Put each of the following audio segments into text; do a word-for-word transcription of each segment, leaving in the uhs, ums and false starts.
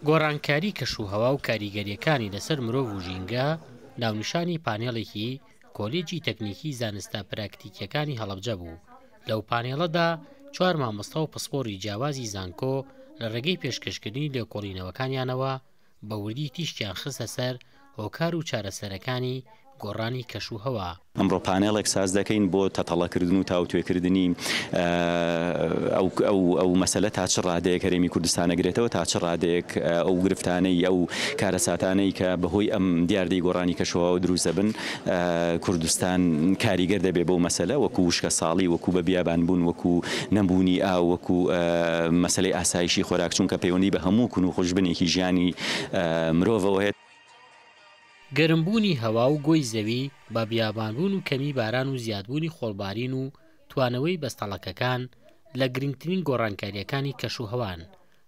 گۆڕانکاری کەشوهەوا و کاریگەرییەکانی لەسەر مرۆڤ و ژینگە ناونیشانی پانێڵێکی کۆلێجی تەکنیکی زانستە پراکتیکیەکانی هەڵەبجە بوو. لەو پانێڵەدا چوار مامۆستا و پسپۆڕی جیاوازی زانکۆ لە ڕێگەی پێشکەشکردنی لێکۆڵینەوەکانیانەوە بە وردی تیشکیان خستە سەر هۆکار و چارەسەرەکانی گۆڕانی کەشوهەوا. ئەمڕۆ پانێڵێک ساز دەکەین بۆ تەتەڵەکردن و تاوتوێکردنی ئەو مەسەلە تا چ ڕادەیەک هەرێمی کوردستان ئەگرێتەوە، تا چ ڕادەیەک ئەو گرفتانەی ئەو کارەساتانەی کە بەهۆی ئەم دیاردەی گۆڕانی کەشوهەواوە دروست دەبن کوردستان کاریگەر دەبێت بەو مەسەلە، وەکو وشکە ساڵی، وەکو بە بیابان بوون، وەکو نەبوونی ئاو، وەکو مەسەلەی ئاسایشی خۆراک، چونکە پەیوەندی بە هەموو کون و خوشبنێکی ژیانی مرۆڤەوە هەیە. گەرمبوونی هەوا و گۆی زەوی بە بیابانبوون و کەمی باران و زیادبوونی خۆڵبارین و توانەوەی بەستەڵەکەکان لە گرنگترین گۆڕانکاریەکانی کەشوهەوان.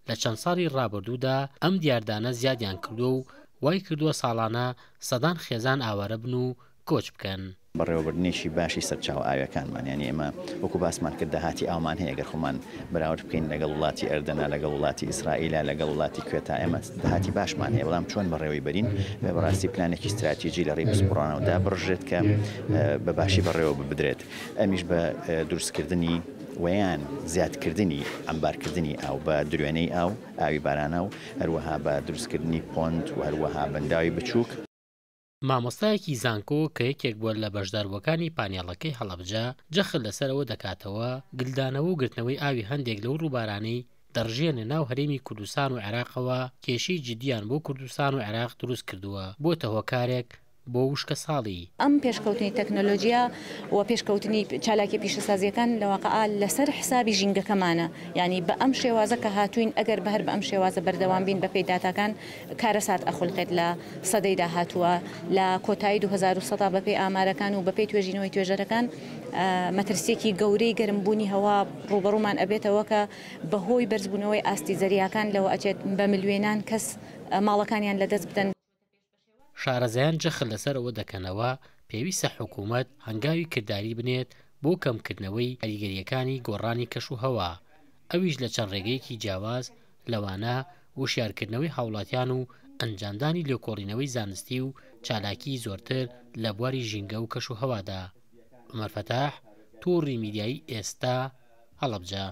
لە چەند ساڵی ڕابردوودا ئەم دیاردانە زیادیان کردووە و وای کردووە ساڵانە سەدان خێزان ئاوارە بن و کۆچ بکەن. بەڕێوەبردنێکی باشی سەرچاوە ئاویەکانمان، یعنی ئێمە وەکو باسمان کرد داهاتی ئاومان هەیە، گەر خۆمان بەراورد بکەین لەگەڵ وڵاتی ئەردەنا، لەگەڵ وڵاتی ئیسرائیلا، لەگەڵ وڵاتی کوێتا، ئێمە داهاتی باشمان هەیە، بەڵام چۆن بەڕێوەی بەرین؟ بەڕاستی پلانێکی استراتیژی لە ڕێی پسپۆڕانەوە دابڕژێت کە بە باشی بەڕێوە ببدرێت، ئەمیش بە دروستکردنی ویان زیادکردنی ئەمبارکردنی ئاو بە دروێنەی ئاو، ئاوی بارانە و هەروەها بە دروستکردنی پۆند و هەروەها بەنداوی بچووک. مامۆستایەکی زانکۆ کە یەکێک بووە لە بەشداربووەکانی پانێڵەکەی هەڵەبجە جەخت لەسەرەوە دەکاتەوە گلدانەوە و گرتنەوەی ئاوی هەندێک لەو ڕووبارانەی دەڕژێنە ناو هەرێمی کوردستان و عێراقەوە کێشەی جدیان بۆ کوردستان و عێراق دروست کردووە، بۆتە هۆکارێک بۆ وشکە ساڵی. ئەم پێشکەوتنی تەکنەلۆژیا و پێشکەوتنی چالاکی پیشەسازیەکان لە واقعا لەسەر حسابی ژینگەکەمانە، یعنی بە ئەم شێوازە کە هاتوین ئەگەر بەهەر بە ئەم شێوازە بەردەوام بین بەپێی داتاکان کارەسات ئەخولقێت لە سەدەی داهاتووە. لە کۆتایی دوو هەزار و سەد بەپێی ئامارەکان و بەپێی توێژینەوەی توێژەرەکان مەترسیەکی گەورەی گەرمبوونی هەوا ڕووبەڕوومان ئەبێتەوە کە بەهۆی بەرزبوونەوەی ئاستی زەریاکان لەوە ئەچێت بە ملیۆنان کەس ماڵەکانیان لەدەست بدەن. شارەزایان جەخت لەسەر ئەوە دەکەنەوە پێویستە حکوومەت هەنگاوی کرداری بنێت بۆ کەمکردنەوەی کاریگەریەکانی گۆڕانی کەشوهەوا، ئەویش لە چەند ڕێگەیەکی جیاواز لەوانە وشیارکردنەوەی هاوڵاتیان و ئەنجامدانی لێکۆڵینەوەی زانستی و چالاکی زۆرتر لە بواری ژینگە و کەشوهەوادا. عومەر فەتاح، تۆڕی میدیایی ئێستا، هەڵەبجە.